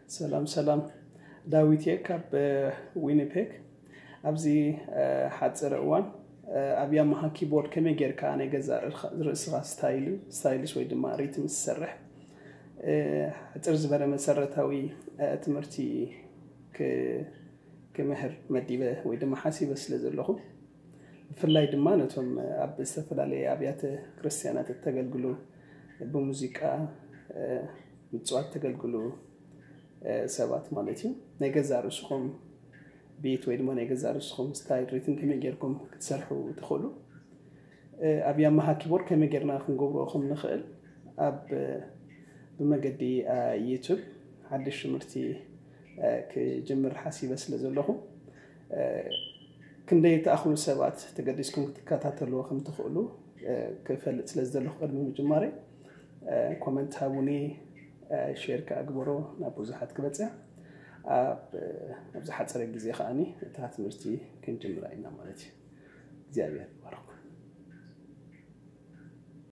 ሰላም ሰላም፣ ዳዊት እየ ካብ ዊኒፔግ። ኣብዚ ሓፂር እዋን ኣብ ያማሃ ኪቦርድ ከመይ ጌርካ ናይ ገዛ ርእስኻ ስታይልስ ወይ ድማ ሪትም ዝሰርሕ ሕፅር ዝበለ መሰረታዊ ትምህርቲ ክምህር መዲበ ወይ ድማ ሓሲበ ስለ ዘለኹ፣ ብፍላይ ድማ ነቶም ኣብ ዝተፈላለየ ኣብያተ ክርስቲያናት እተገልግሉ፣ ብሙዚቃ ምፅዋት ተገልግሉ ሰባት ማለት እዩ፣ ናይ ገዛ ርእስኹም ቤት ወይ ድማ ናይ ገዛ ርእስኹም ስታይል ሪትም ከመይ ጌርኩም ክትሰርሑ ትኽእሉ፣ ኣብ ያማሃ ኪቦርድ ከመይ ጌርና ክንገብሮ ከም ንኽእል ኣብ ብመገዲ ዩቱብ ሓድሽ ትምህርቲ ክጅምር ሓሲበ ስለ ዘለኹ፣ ክንደይ ተኣኽሉ ሰባት ተገዲስኩም ክትከታተልዎ ከም ትኽእሉ ክፈልጥ ስለ ዝደለኹ፣ ቅድሚ ምጅማረይ ኮመንት ሃቡኒ፣ ሼር ክኣግበሮ ናብ ብዙሓት ክበፅሕ፣ ኣብዚ ሓፀረ ግዜ ከዓኒ እታ ትምህርቲ ክንጅምራ ኢና ማለት እዩ። እግዚኣብሔር ይባርኩም።